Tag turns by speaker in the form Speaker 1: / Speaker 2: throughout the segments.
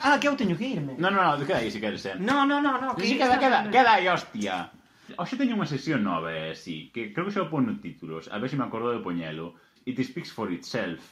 Speaker 1: Ah, que eu teño que irme.
Speaker 2: No, queda aí se queres,
Speaker 1: No,
Speaker 2: que sí, queda aí, hostia. Hoxe teño unha sesión nova, sí, que creo que xa o pon no títulos, a ver se me acordo de poñelo. It speaks for itself.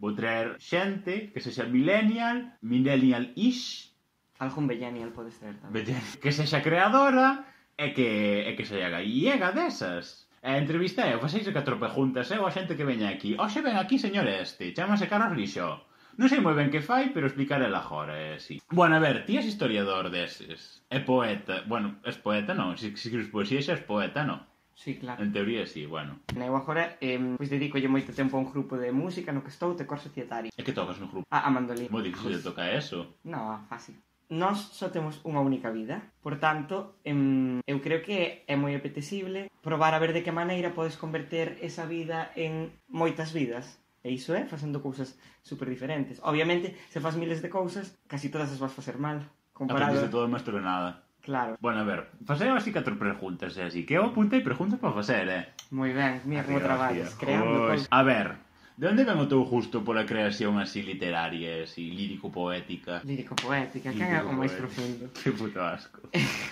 Speaker 2: Vou traer xente que sexa millennial-ish,
Speaker 1: Algún millennial pode ser tamén.
Speaker 2: que sexa creadora e que sexa gallega desas. A entrevista é, faceis 4 preguntas, a xente que veña aquí. Hoxe ven aquí señor chámase Carlos Lixó. Non sei moi ben que fai, pero explicaré agora, sí. Bueno, a ver, ti és historiador deses. É poeta. Bueno, és poeta, non? Se escribes poesía xa és poeta, non?
Speaker 1: Sí, claro.
Speaker 2: En teoría, sí, bueno.
Speaker 1: Eu agora, pois dedicolle moito tempo a un grupo de música no que estou de cor societario.
Speaker 2: E que tocas no grupo?
Speaker 1: A mandolín.
Speaker 2: Moi difícil de tocar eso.
Speaker 1: Non, fácil. Nós só temos unha única vida, por tanto, eu creo que é moi apetecible probar a ver de que maneira podes converter esa vida en moitas vidas. E iso é facendo cousas super diferentes. Obviamente, se faz miles de cousas, casi todas as vas facer mal.
Speaker 2: Aprendes de todo, maestro de nada.
Speaker 1: Claro.
Speaker 2: Bueno, a ver, facer así 4 preguntas, así que eu apuntei preguntas para facer,
Speaker 1: Moi ben, mira como traballas, creando cousas.
Speaker 2: A ver, de onde ven o teu gusto pola creación así literaria, así lírico-poética?
Speaker 1: Lírico-poética, que é o máis profundo.
Speaker 2: Que puto asco.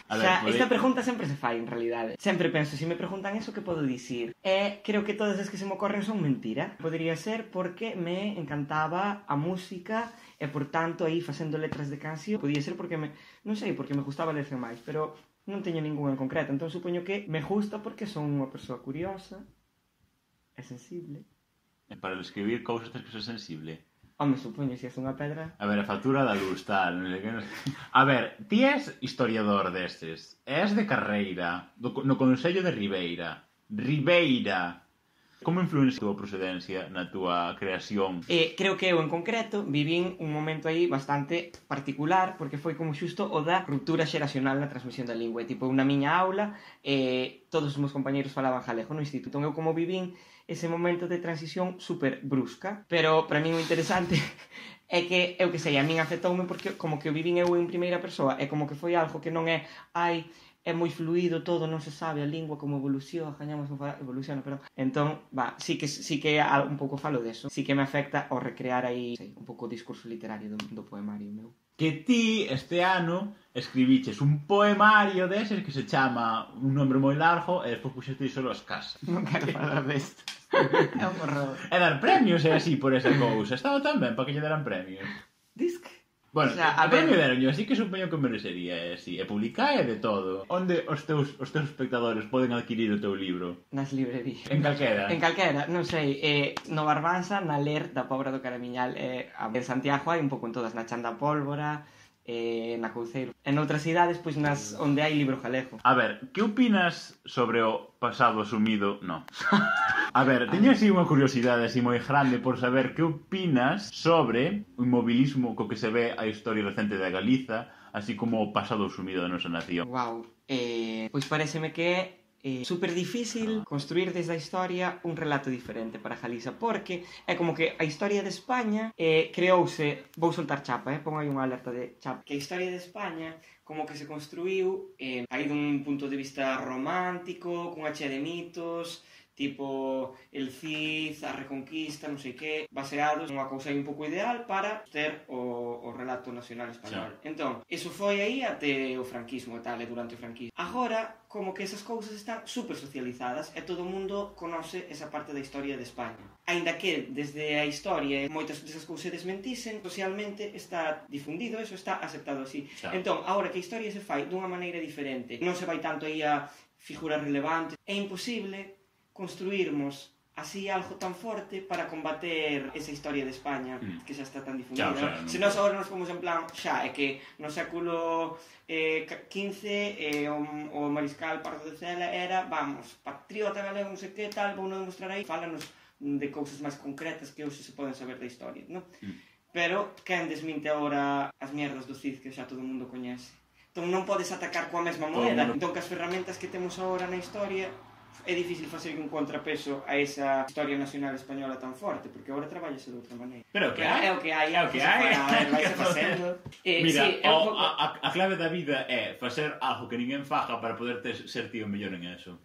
Speaker 1: A ver, esta pregunta sempre se fai, en realidade. Sempre penso, se me preguntan eso, que podo dicir? Creo que todas as que se me ocorren son mentira. Podría ser porque me encantaba a música e, por tanto, aí facendo letras de canción. Podía ser porque non sei, porque me gustaba lerse máis, pero non teño ningún en concreto. Entón, supoño que me gusta porque son unha persoa curiosa e sensible.
Speaker 2: E para escribir cousas tens que ser sensible.
Speaker 1: Home, supoño, se és unha pedra...
Speaker 2: A ver, a factura da luz, tal... A ver, ti és historiador destes. És de carreira, no Consello de Ribeira. Ribeira! Como influenciou a procedencia na túa creación?
Speaker 1: Creo que eu, en concreto, vivín un momento aí bastante particular, porque foi como xusto o da ruptura xeracional na transmisión da lingua. Tipo, na miña aula, todos os meus compañeros falaban galego no instituto. Entón, eu como vivín ese momento de transición super brusca. Pero, para mí, o interesante é que, eu que sei, a min afectoume porque como que o vivín eu en primeira persoa, é como que foi algo que non é, é moi fluido todo, non se sabe a lingua como evoluciona, pero... Entón, sí que un pouco falo deso. Sí que me afecta ao recrear aí, sei, un pouco o discurso literario do poemario meu.
Speaker 2: Que ti, este ano, escribiches un poemario deses que se chama un nombre moi largo e despois puxeste solo as casas.
Speaker 1: Non quero falar desto. É un horror.
Speaker 2: E dar premios e así por esa cousa. Estaba tan ben para que lle deran premios.
Speaker 1: Disc.
Speaker 2: Bueno, o sea, a premio deronyo, así que supoño que merecería, sí. E publicar e de todo. Onde os teus espectadores poden adquirir o teu libro?
Speaker 1: Nas librerías.
Speaker 2: En calquera?
Speaker 1: En calquera, non sei. No Barbanza, na Ler da Pobra do Caramiñal, en Santiago hai un pouco en todas, na Chan da Pólvora, na Couceiro. En outras cidades, pois nas onde hai libro galego.
Speaker 2: A ver, que opinas sobre o pasado asumido? No. A ver, teño así unha curiosidade así moi grande por saber que opinas sobre o inmobilismo co que se ve a historia recente da Galiza, así como o pasado asumido da nosa nación.
Speaker 1: Guau, pois pareceme que é super difícil construir desde a historia un relato diferente para Galiza, porque é como que a historia de España creouse, vou soltar chapa, pon aí unha alerta de chapa, que a historia de España como que se construiu aí dun punto de vista romántico, cunha chea de mitos, tipo el Cid, a Reconquista, non sei que, baseados nunha cousa aí un pouco ideal para ter o relato nacional español. Entón, eso foi aí até o franquismo e tal, e durante o franquismo. Agora, como que esas cousas están super socializadas e todo o mundo conoce esa parte da historia de España. Aínda que, desde a historia, moitas desas cousas se desmentisen, socialmente está difundido, eso está aceptado así. Entón, agora que a historia se fai dunha maneira diferente, non se vai tanto aí a figuras relevantes, é imposible construirmos así algo tan forte para combater esa historia de España que xa está tan difundida. Se nós agora nos fomos en plan, xa, é que no século XV o mariscal Pardo de Cela era, vamos, patriota galego, non sei que tal, vou non demostrar aí, fálanos de cousas máis concretas que hoxe se poden saber da historia, non? Pero quen desminte agora as mierdas do Cid que xa todo o mundo coñece? Entón non podes atacar coa mesma moeda, entón que as ferramentas que temos agora na historia é difícil facer un contrapeso a esa historia nacional española tan forte, porque agora traballase de outra maneira.
Speaker 2: Pero que hai?
Speaker 1: É o que hai, é o que hai. Vaise facendo.
Speaker 2: Mira, a clave da vida é facer algo que ninguén faga para poder ser tío mellor en eso.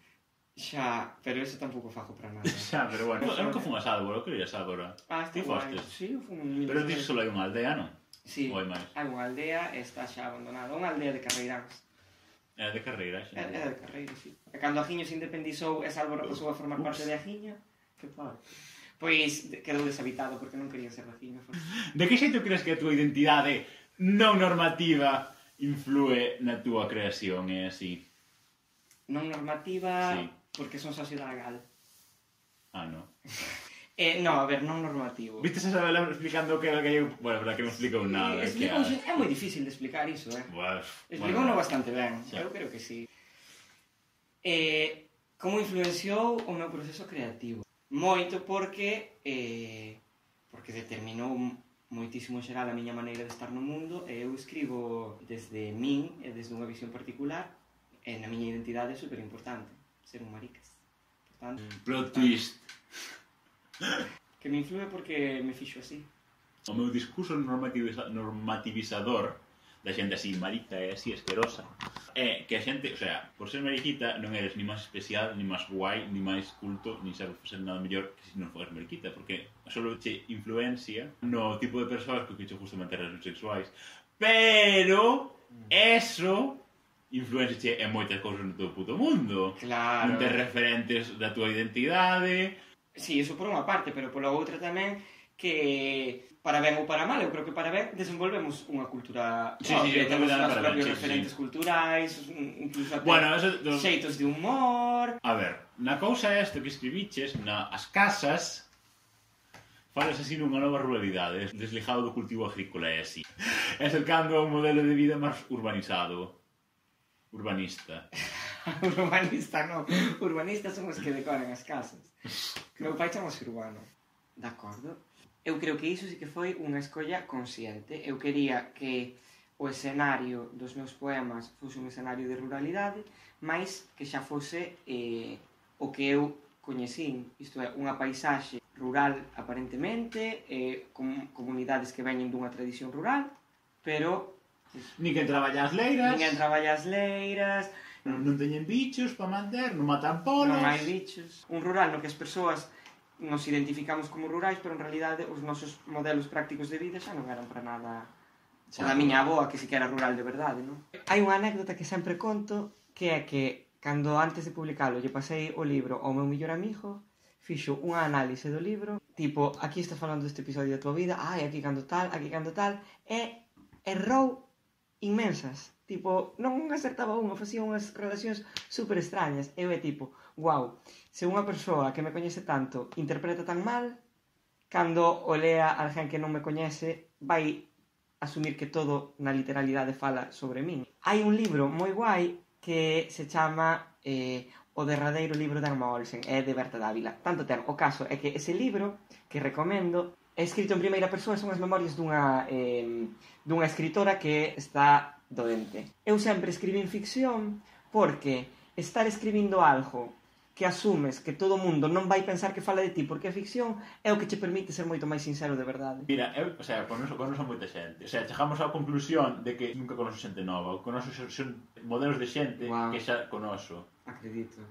Speaker 1: Xa, pero eso tampouco fago para nada.
Speaker 2: Xa, pero bueno. Eu nunca fun a Sálvora, eu quería Sálvora.
Speaker 1: Ti
Speaker 2: fostes?
Speaker 1: Sí, eu fun...
Speaker 2: Pero ti só hai unha aldea, non?
Speaker 1: Sí,
Speaker 2: Ou hai máis?
Speaker 1: hai unha aldea e está xa abandonada. Unha aldea de carreiráns.
Speaker 2: É de carreira, xa.
Speaker 1: É de carreira, sí. E cando Agiño se independizou e Salvo pasou a formar parte de Agiño, que parte? Pois quedou deshabitado porque non querían ser de Agiño.
Speaker 2: De que xeito crees que a túa identidade non normativa influe na túa creación, é así?
Speaker 1: Non normativa,
Speaker 2: Sí.
Speaker 1: porque son socio da Gal.
Speaker 2: Ah, no.
Speaker 1: No, a ver, non normativo.
Speaker 2: Viste esa vela explicando o que era gallego? Bueno, verdad que non explicou nada.
Speaker 1: É moi difícil de explicar iso, Explicouno bastante ben,
Speaker 2: Sí.
Speaker 1: eu creo que sí. Como influenciou o meu proceso creativo? Moito porque determinou moitísimo en xeral a miña maneira de estar no mundo e eu escribo desde min e desde unha visión particular e na miña identidade é super importante ser un maricas. Portanto,
Speaker 2: Plot twist.
Speaker 1: que me influe porque me fixo así.
Speaker 2: O meu discurso normativizador da xente así marica e así asquerosa é que a xente, o sea, por ser mariquita non eres ni máis especial, ni máis guai, ni máis culto, ni ser nada mellor que se non foras mariquita, porque solo che influencia no tipo de persoas que che gusta manter relacións sexuais, pero eso influencia en moitas cousas no teu puto mundo.
Speaker 1: Claro.
Speaker 2: Non tes referentes da tua identidade.
Speaker 1: Sí, eso por unha parte, pero pola outra tamén que para ben ou para mal, eu creo que para ben desenvolvemos unha cultura propia, temos os propios referentes culturais, incluso até xeitos de humor.
Speaker 2: A ver, na cousa esta que escribiches, as casas, falas así nunha nova ruralidade, desligado do cultivo agrícola e así. E acercando a un modelo de vida máis urbanizado. Urbanista.
Speaker 1: Urbanista non. Urbanistas son os que decoran as casas. Meu pai chamase urbano. De acordo. Eu creo que iso sí que foi unha escolla consciente. Eu quería que o escenario dos meus poemas fose un escenario de ruralidade, mais que xa fose o que eu coñecín. Isto é, unha paisaxe rural aparentemente, con comunidades que veñen dunha tradición rural, pero...
Speaker 2: Ninguén traballa as leiras.
Speaker 1: Ninguén traballa as leiras.
Speaker 2: Non teñen bichos para manter, non matan polos.
Speaker 1: Non hai bichos. Un rural no que as persoas nos identificamos como rurais, pero en realidade os nosos modelos prácticos de vida xa non eran para nada... O da miña avoa, que sí que era rural de verdade, non? Hai unha anécdota que sempre conto, que é que, cando antes de publicalo lle pasei o libro ao meu mellor amigo, fixo unha análise do libro, tipo, aquí estás falando deste episodio da tua vida, aquí cando tal, e errou inmensas. Tipo, non acertaba unha, facía unhas relacións super extrañas. Eu é tipo, guau, se unha persoa que me coñece tanto interpreta tan mal, cando o lea alguén que non me coñece, vai asumir que todo na literalidade fala sobre min. Hai un libro moi guai que se chama O derradeiro libro de Emma Olsen, é de Berta Dávila. Tanto ten, o caso é que ese libro, que recomendo, é escrito en primeira persoa, son as memorias dunha escritora que está doente. Eu sempre escribín ficción porque estar escribindo algo que asumes que todo o mundo non vai pensar que fala de ti porque é ficción é o que che permite ser moito máis sincero de verdade.
Speaker 2: Mira, conoso moita xente. O sea, chegamos á conclusión de que nunca conoso xente nova. Conoso son modelos de xente que xa conoso.
Speaker 1: Acredito.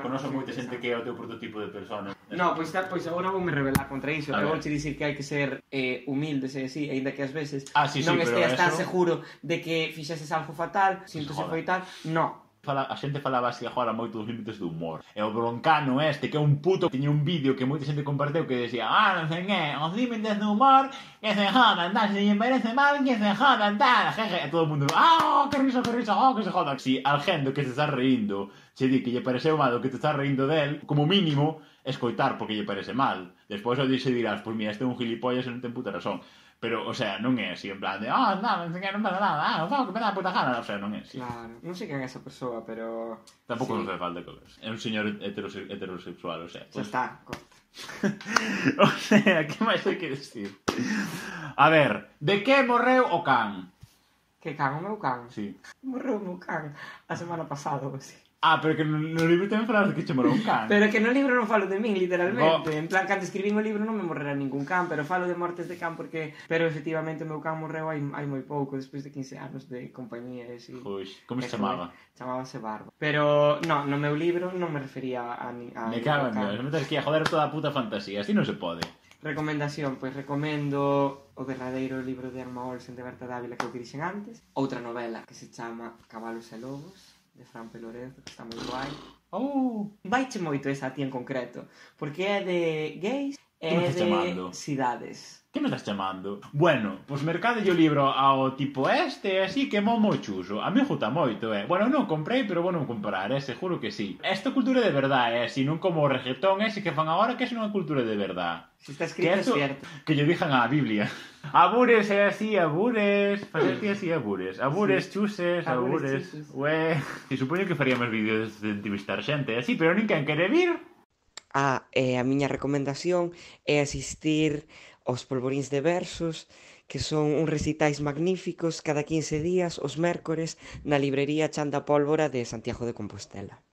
Speaker 2: Conoso moita xente que é o teu prototipo de persona.
Speaker 1: No, pois agora voume rebelar contra iso. Eu vouche dicir que hai que ser humildes e así, ainda que ás veces non esteas tan seguro de que fixeses algo fatal, sinto se foi tal. No.
Speaker 2: A xente falaba así agora moito dos límites do humor. E o broncano que é un puto, tiña un vídeo que moita xente comparteu que decía non sei que, os límites do humor que se jodan, tal, se lle merece mal que se jodan, tal, jeje. E todo o mundo, que risa, que se jodan. Si alguén do que se está reindo che di que lle pareceu mal o que te está reindo del, como mínimo, escoitar porque lle parece mal. Despois o dixe dirás, pois mira, este é un gilipollas e non ten puta razón. Pero, o sea, non é así, en plan de non sei que, non pasa nada, o que me dá puta gana. O sea, non é así.
Speaker 1: Claro, non sei quen é esa persoa, pero...
Speaker 2: Tampouco non fai falta colas. É un señor heterosexual, o sea...
Speaker 1: Xa está, corta.
Speaker 2: O sea, que máis hai que decir? A ver, de que morreu o can?
Speaker 1: Que can? O meu can?
Speaker 2: Sí.
Speaker 1: Morreu o meu can a semana pasada, ou así.
Speaker 2: Pero que no libro tamén falas de que che morreu un can.
Speaker 1: Pero que no libro non falo de min, literalmente. En plan, cando escribín o libro non me morrera ningún can, pero falo de mortes de can porque... Pero, efectivamente, o meu can morreu hai moi pouco, despois de 15 anos de compañía e así.
Speaker 2: Pois, como se chamaba?
Speaker 1: Chamábase Barba. Pero, no meu libro non me refería a
Speaker 2: me cago en Dios, me tens que ir a joder toda a puta fantasía, así non se pode.
Speaker 1: Recomendación, pois recomendo o derradeiro libro de Emma Olsen de Berta Dávila que eu dixen antes. Outra novela que se chama Cabalos e Lobos, de Fran Pelorenzo, que está moi guai. Vaiche moito esa a ti en concreto, porque é de gays e
Speaker 2: Que me estás
Speaker 1: de
Speaker 2: chamando?
Speaker 1: cidades.
Speaker 2: Que me estás chamando? Bueno, pois mercade o libro ao tipo este, así que moi chuso. A mí gusta moito, Bueno, non comprei, pero vou non comprar, seguro que sí. Esta cultura de verdade, si non como o reggaetón ese que fan agora, que é unha cultura de verdade.
Speaker 1: Si está escrito é cierto.
Speaker 2: Que lle dixan á Biblia. Abures é así, abures. Facerte así, abures. Abures,
Speaker 1: Sí.
Speaker 2: chuses,
Speaker 1: Abures,
Speaker 2: abures.
Speaker 1: chuses.
Speaker 2: E supoño que faríamos vídeos de entrevistar xente, así, pero ninguén quere vir.
Speaker 1: A miña recomendación é asistir aos Polvoríns de Versos, que son uns recitais magníficos cada 15 días, os mércores, na librería Chan da Pólvora de Santiago de Compostela.